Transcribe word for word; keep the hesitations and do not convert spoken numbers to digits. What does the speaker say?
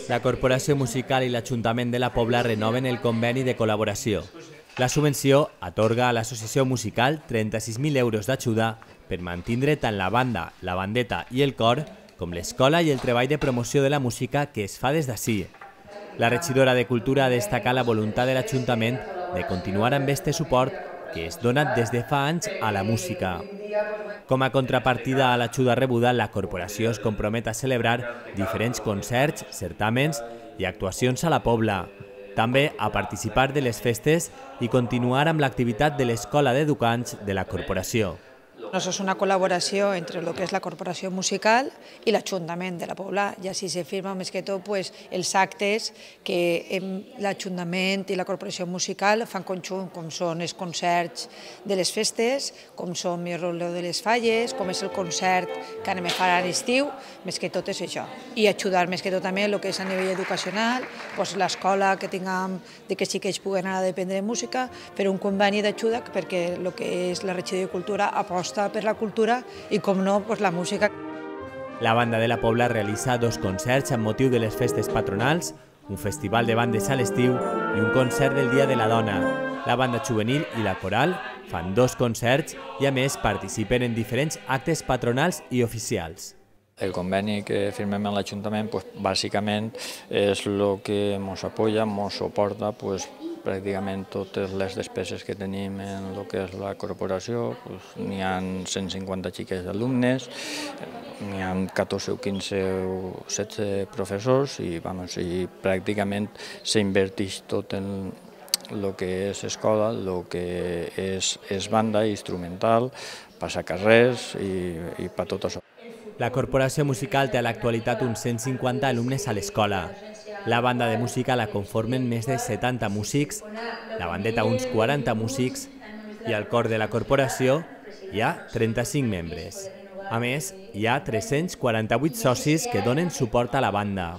La Corporació Musical i l'Ajuntament de la Pobla renoven el conveni de col·laboració. La subvenció atorga a l'Associació Musical trenta-sis mil euros d'ajuda per mantindre tant la banda, la bandeta i el cor com l'escola i el treball de promoció de la música que es fa des d'ací. La regidora de Cultura destaca la voluntat de l'Ajuntament de continuar amb este suport que es dona des de fa anys a la música. Com a contrapartida a l'ajuda rebuda, la corporació es compromet a celebrar diferents concerts, certàmens i actuacions a la Pobla. També a participar de les festes i continuar amb l'activitat de l'Escola d'Educants de la corporació. Això és una col·laboració entre el que és la Corporació Musical i l'Ajuntament de la Pobla. I així se firma més que tot pues, els actes que l'Ajuntament i la Corporació Musical fan conjunt, com són els concerts de les festes, com són el Roleo de les Falles, com és el concert que anem a fer a l'estiu, més que tot és això. I ajudar més que tot també el que és a nivell educacional, pues, l'escola que tinguem de que sí que ells puguen anar a aprendre música, fer un conveni d'ajuda perquè el que és la regidoria de Cultura aposta per la cultura i, com no, pues la música. La banda de la Pobla realitza dos concerts amb motiu de les festes patronals, un festival de bandes a l'estiu i un concert del Dia de la Dona. La banda juvenil i la coral fan dos concerts i, a més, participen en diferents actes patronals i oficials. El conveni que firmem amb l'Ajuntament, pues, bàsicament, és el que ens apoya, ens suporta, pues, pràcticament totes les despeses que tenim en el que és la corporació. Pues, n'hi ha cent cinquanta xiques d'alumnes, n'hi ha catorze o quinze o setze professors i, vamos, i pràcticament s'inverteix tot en el que és escola, el que és, és banda instrumental, passacarrers i, i per tot això. La Corporació Musical té a l'actualitat uns cent cinquanta alumnes a l'escola. La banda de música la conformen més de setanta músics, la bandeta uns quaranta músics i al cor de la corporació hi ha trenta-cinc membres. A més, hi ha tres-cents quaranta-vuit socis que donen suport a la banda.